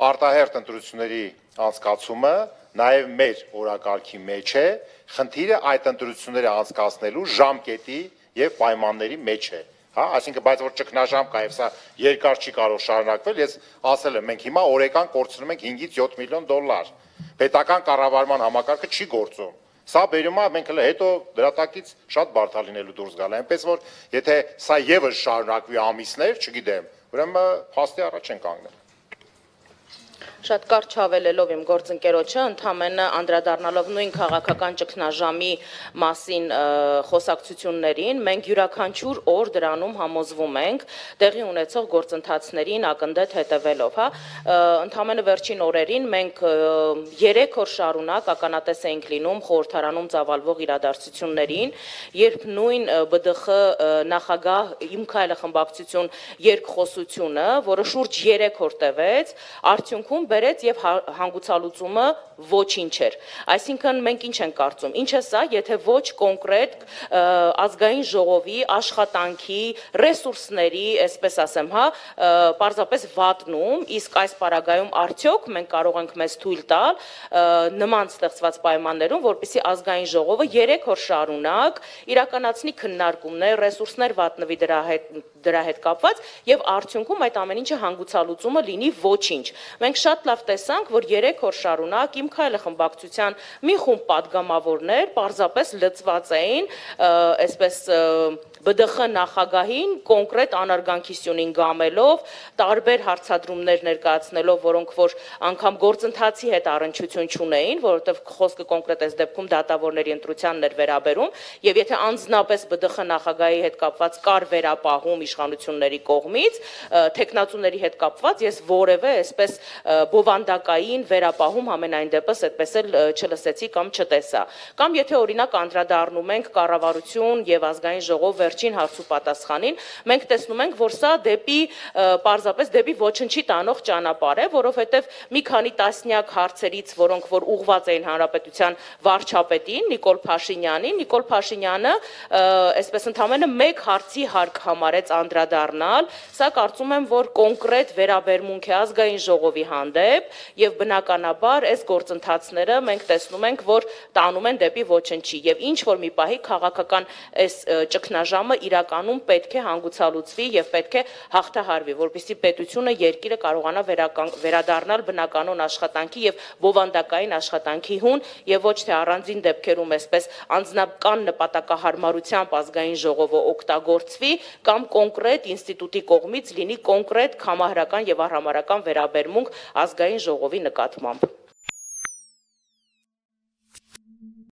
Արտահերթ ընտրությունների անցկացումը նաև մեր օրակարգի մեջ է, խնդիրը այդ ընտրությունները անցկացնելու ժամկետի եւ պայմանների մեջ է, հա, այսինքն բայց որ ճգնաժամ կա եւ սա երկար չի կարող շարունակվել, ես ասել եմ, մենք հիմա օրեկան կորցնում ենք 5-ից 7 միլիոն դոլար, պետական կառավարման համակարգը չի գործում, սա բերում է մենք հետո դրատակից շատ բարդ է լինելու դուրս գալ, այնպես որ եթե սա եւս շարունակվի ամիսներ, չգիտեմ, ուրեմն փաստի առաջ են կանգնել։ Շատ կարճ հավելելով իմ գործընկերոջը, ընդհանրապես անդրադառնալով նույն քաղաքական ճգնաժամի մասին խոսակցություններին, մենք յուրաքանչյուր օր դրանում համոզվում ենք տեղի ունեցող գործընթացներին ակնդետ հետևելով, հա, ընդհանրապես վերջին օրերին մենք 3 օր շարունակ ականատես էինք լինում խորհրդարանում ծավալվող իրադարձություններին, երբ նույն ԲԴԽ նախագահ Իմ քայլը խմբակցություն երկխոսությունը, որը շուրջ 3 օր տևեց, արդյունքում բերեց եւ հանգուցալուծումը ոչինչ էր։ Այսինքն մենք ինչ ենք կարծում, ինչ է սա, եթե ոչ կոնկրետ ազգային ժողովի աշխատանքի, ռեսուրսների, այսպես ասեմ, հա, պարզապես վատնում, իսկ այս պարագայում արդյոք մենք կարող ենք մեզ թույլ տալ նման ստեղծված պայմաններում, որպեսզի ազգային ժողովը 3 օր շարունակ իրականացնի քննարկումներ, ռեսուրսներ վատնվի դրա հետ կապված եւ արդյունքում այդ ամեն ինչը հանգուցալուծումը լինի ոչինչ։ Մենք շատ լավ տեսանք, որ 3 օր շարունակ Իմ քայլը խմբակցության մի խումբ падգամավորներ պարզապես լծված էին, այսպես ԲԴԽ նախագահին կոնկրետ անարգանքի սյունին գամելով, տարբեր հարցադրումներ ներկայացնելով, որոնք որ անգամ գործընթացի հետ առնչություն չունեին, որովհետև խոսքը կոնկրետ այս դեպքում դատավորների ընտրությանն էր վերաբերում, եւ եթե անձնապես ԲԴԽ նախագահի հետ կապված կար վերապահում իշխանությունների կողմից, թեկնածուների հետ կապված ես որևէ այսպես բովանդակային վերապահում համենայն դեպս այդպես էլ չլսեցի կամ չտեսա։ Կամ եթե օրինակ անդրադառնում ենք կառավարություն եւ ազգային ժողով վերջին հարցու պատասխանին, մենք տեսնում ենք, որ սա դեպի պարզապես դեպի ոչնչի տանող ճանապարհ է, որովհետեւ մի քանի տասնյակ հարցերից, որոնք որ ուղղված էին հանրապետության վարչապետին Նիկոլ Փաշինյանին, Նիկոլ Փաշինյանը այսպես ընդամենը մեկ հարցի հարկ համարեց անդրադառնալ, սա կարծում եմ, որ կոնկրետ վերաբերմունք է ազգային ժողովի հանդեպ եւ բնականաբար այս գործընթացները մենք տեսնում ենք, որ տանում են դեպի ոչնչի եւ ինչ որ մի պահի քաղաքական այս ճգնաժամը իրականում պետք է հանգուցալուծվի եւ պետք է հաղթահարվի, որպեսզի պետությունը երկիրը կարողանա վերադառնալ բնականոն աշխատանքի եւ բովանդակային աշխատանքի հուն եւ ոչ թե առանձին դեպքերում այսպես անձնական նպատակահարմարությամբ ազգային ժողովը օգտագործվի կամ կոնկրետ ինստիտուտի կողմից լինի կոնկրետ համահարական եւ արհամարհական վերաբերմունք ազգային ժողովի նկատմամբ։